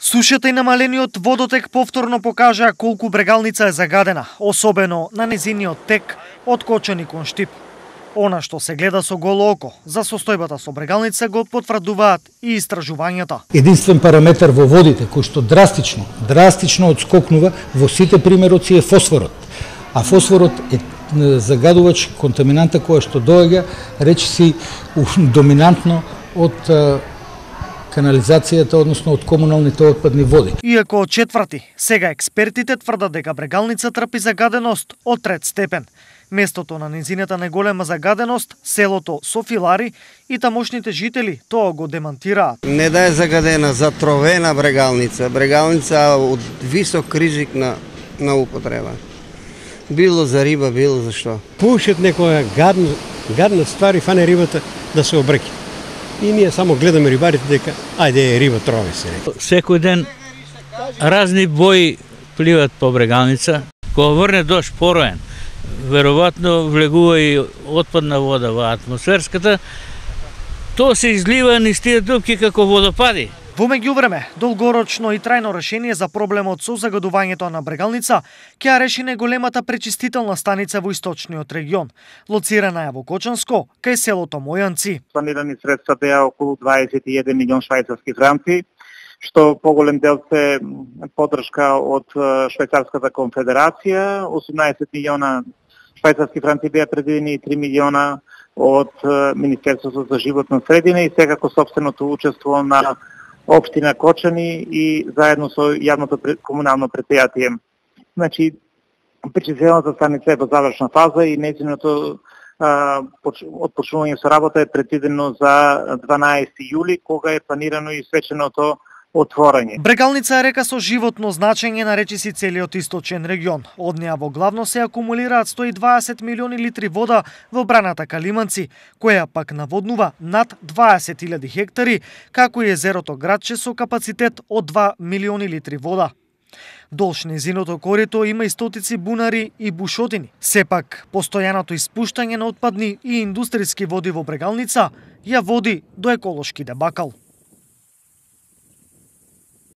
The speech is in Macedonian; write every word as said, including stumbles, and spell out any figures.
Сушата и намалениот водотек повторно покажаа колку Брегалница е загадена, особено на незиниот тек од Кочани кон Штип. Она што се гледа со голо око за состојбата со Брегалница го потврдуваат и истражувањата. Единствен параметар во водите кој што драстично, драстично одскокнува во сите примероци е фосфорот. А фосфорот е загадувач контаминанта која што доаѓа речиси доминантно од канализацијата, односно од комуналните отпадни води. Иако од четврти, сега експертите тврдат дека Брегалница трпи загаденост од трет степен. Местото на незината најголема загаденост, селото Софилари и тамошните жители тоа го демантираат. Не да е загадена, затровена Брегалница. Брегалница од висок ризик на, на употреба. Било за риба, било за што. Пушат некоја гадна, гадна ствари, фане рибата да се обреки. И ние само гледаме рибарите дека ајде риба трови се. Секој ден разни бои пливат по Брегалница. Кога врне дожд пороен, веројатно влегува и отпадна вода во атмосферската, тоа се излива низ тие дупки како водопади. Во меѓувреме, долгорочно и трајно решение за проблемот со загадувањето на Брегалница ќе ја реши најголемата пречистителна станица во источниот регион, лоцирана е во Кочанско, кај селото Мојанци. Планирани средства беа околу дваесет и еден милион швајцарски франци, што поголем дел се поддршка од Швајцарската конфедерација, осумнаесет милиона швајцарски франци беа предвидени и три милиона од Министерството за животна средина и секако собственото учество на Општина Кочани и заедно со јавното комунално предпријатие. Значи, пречистителната станица е во завршна фаза и нејзиното отпочнување со работа е предвидено за дванаесети јули, кога е планирано и свеченото отворање. Брегалница е река со животно значење на речиси целиот источен регион. Од неа во главно се акумулираат сто и дваесет милиони литри вода во браната Калиманци, која пак наводнува над дваесет илјади хектари, како и езерото Градче со капацитет од два милиони литри вода. Долж незиното корито има и стотици бунари и бушотини. Сепак, постојаното испуштање на отпадни и индустријски води во Брегалница ја води до еколошки дебакал.